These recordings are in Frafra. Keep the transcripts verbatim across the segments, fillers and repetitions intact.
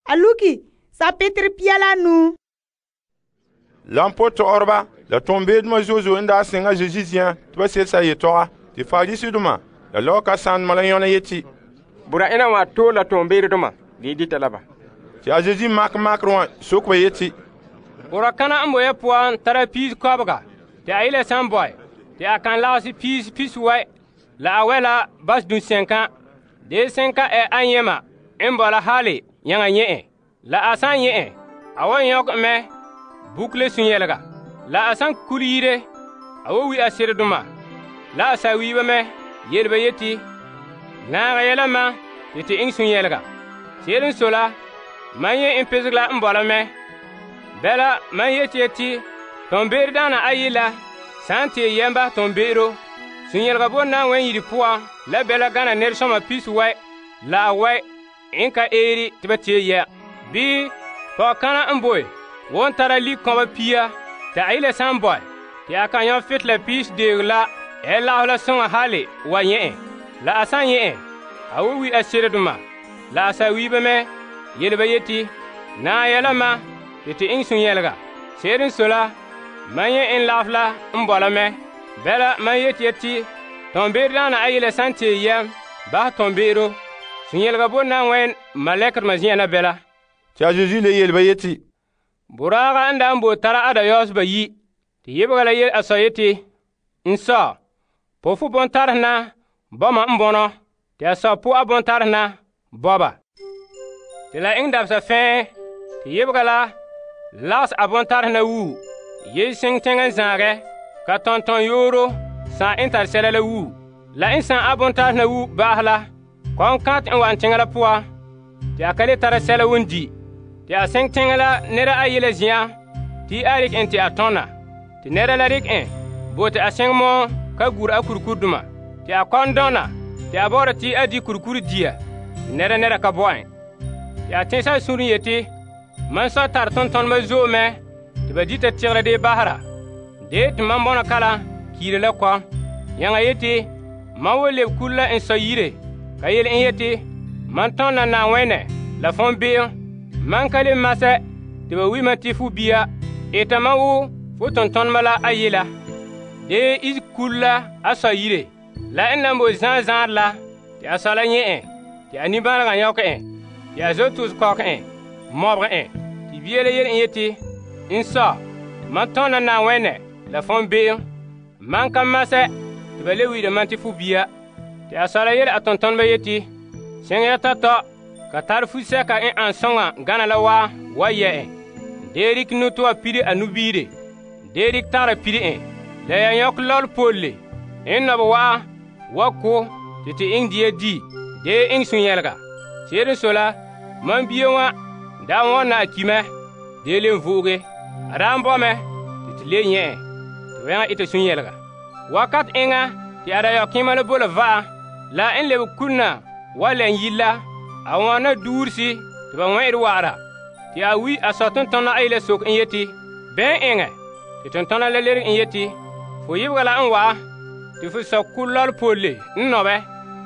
a luki sapetere pia la nu. Lampo tɔgɔreba la tombeedoma zo'e zo'e n daa seŋa Zesu ziyan tɩ ba selsa yetɔga tɩ Farisidoma la lɔgɔkasanedoma la yɔna yeti, Bura ena wa tool la tombeedoma dee dita la ba. Tɩ a Zesu makɛ makerɛ wã sok ba yeti, Bura kana n boye puan tara piis kɔbega tɩ a yele san bɔɛ tɩ a kan lagese piis pisuwɛ la a wɛ la bas dunsẽnka. Dee sẽnka ɛ ayema n bɔ la hali yãŋa nyɛ en. La a san nyɛ en, a wan yõk mɛ bukle sun-yɛlega. La a san kul yire, a wa wi a seredoma la a sawiiba mɛ yele ba yeti, Naagɛ yɛla mam tɩ tɩ iŋɛ sun-yɛlega. Se'ere n sɔe la, mam yẽ n peseg la n bɔ la mɛ. Bɛla mam yeti yeti, tombeere-daana ayi la sãn tee yɛm basɛ tombe'ero, sun-yɛlega bo na n wɛn yire poan la bɛla gana nɛresɔma pisuwɛ la a wɛ n ka eeri tɩ ba tee yɛ. Bii pɔgɔkana n boe won tara lik-kɔba pia tɩ a yele san bɔɛ tɩ a kan yõ fetela piis deeg la ɛ lagef la sõŋa hali wa nyɛ en. La a san nyɛ en, a wa wi a seredoma la a sawiiba mɛ yele ba yeti, Naag yɛla mam tɩ tɩ iŋɛ sun-yɛlega. Se'ere n sɔe la, mam yẽ n lagef la n bɔ la mɛ. Bɛla mam yeti yeti, tombeere-daana ayi la san tee yɛm basɛ tombe'ero, sun-yɛlega bo na n wɛn malɛkdoma zen'an na bɛla. Tɩ a Zesu le yele ba yeti, Boraaga n da n bo tara a dayɔɔse bayi, tɩ yebega la yele a sɔ yeti, N sɔ, po fo bontarse na bɔma n bɔnɔ, tɩ a sɔ po a bontarse na bɔba. Tɩ la eŋɛ dabesa fɛɛ tɩ yebega la lages a bontarse na wuu, yei seŋ teŋa n zãagɛ, ka tɔntɔn yooro sã n tare sɛla la wuu. La n sã a bontarse na wuu ba'ahɛ la, kɔm-kãt n wa'an teŋa la poan, tɩ a ka le tara sɛla wun di. Tɩ a sẽng teŋa la nɛra ayi la zen'an tɩ a rɩk en tɩ a tõna. Tɩ nɛra la rɩk en bo tɩ a sẽng mɔɔ ka gur a kurikurdoma. Tɩ a kɔn dɔna tɩ a bɔ'ɔra tɩ a di kurikuri dia tɩ nɛra nɛra ka bɔ en. Tɩ a tẽsa a sũur n yeti, Mam sɔ tar tõntɔnema zo'e mɛ tɩ ba dita tegera dee basera. Dee tɩ mam bɔna kalam kiira la kɔm. Yãŋa yeti, Mam wa leb kul la n sɔ yire ka yele n yeti, Mam tõnd la Naaŋwɛnɛ la fõn be'em. Mam ka le masɛ tɩ ba wi mam tɩ fo bia, eta mam wo fo tõntɔnema la ayi la. Dee isi kul la a sɔ yire. La n na n bo zãa zãad la, tɩ a sɔ la nyɛ en, tɩ a nimbãanegã yõk en, tɩ a zo tos kɔk en, mɔbg en. Tɩ bia la yele n yeti, N sɔ, mam tõnd la Naaŋwɛnɛ la fõn be'em. Mam ka masɛ tɩ ba le wi'ira mam tɩ fo bia. Tɩ a sɔ la yele a tõntɔneba yeti, Sẽng ya tɔ-tɔ, ka tar fu-sɛka n an sõŋa gana la waa wa yɛ en. Dee rɩk nu-tɔa pire a nubiire. Dee rɩk tagra pire en. La ya yõk lɔl polle n nɔb wa'a wa ko tɩ tɩ iŋɛ dia di. Dee iŋɛ sun-yɛlega. Se'ere n sɔe la, mam bia wã daa wõnna a ki mɛ. Dee le n vo'oge. A daa n bɔ mɛ tɩ tɩ le nyɛ en, tɩ ba yãŋa ita sun-yɛlega. Wakat eŋa tɩ a dayɔ-kẽema la bo la va'a, la n leb kulna wa lɛn yil la, a wõna duursi tɩ ba wẽ'ɛd wa'ara. Tɩ a wi a sɔ tʋntɔna ayi la sok n yeti, Bɛn eŋɛ? Tɩ tʋntɔna la lerg n yeti, Fo yebga la n wa'a tɩ fo sɔ kul-lɔl polle n nɔbɛ.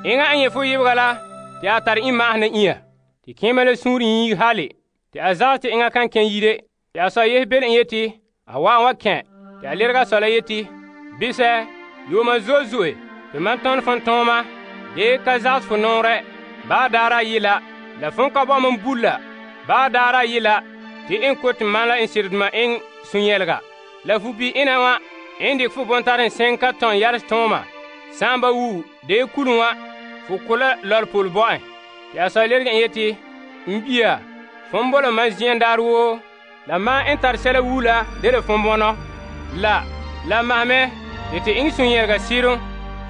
Eŋa n yẽ fo yebga la tɩ a tar ĩ-maasena ĩa. Tɩ kẽema la sũur yiig hale, tɩ a zags tɩ eŋa kan kẽ yire. Tɩ a sɔ yes bel n yeti, A wa n wa kẽ. Tɩ a lerga a sɔ la yeti, Bisɛ, yooma zo'e zo'e tɩ mam tõnd fõn tõoma, dee ka zags fo nɔɔrɛ. Baa daara ayi la, la fõn ka bɔ mam bulla. Baa daara ayi la, tɩ n ko tɩ mam la n sereduma eŋɛ sun-yɛlega. La fu bi-ina wã n dɩk fo bõn-tare n sẽng ka tõn yals tõoma. Sã n ba wuu, dee kulum wã, fo ko la lɔl-pol bɔ en. Tɩ a sɔ lerg n yeti, N bia, fõn bola mam zĩan daar woo, la mam n tar sɛla wuu la de la fõn bɔnɔ. La, la masmɛ tɩ tɩ iŋɛ sun-yɛlega sɩrem.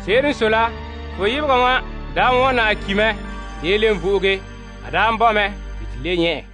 Se'ere n sɔe la, fo yebga wã daa wõnna a ki mɛ, dee le n vo'oge. A daa n bɔ mɛ tɩ tɩ le nyɛ en.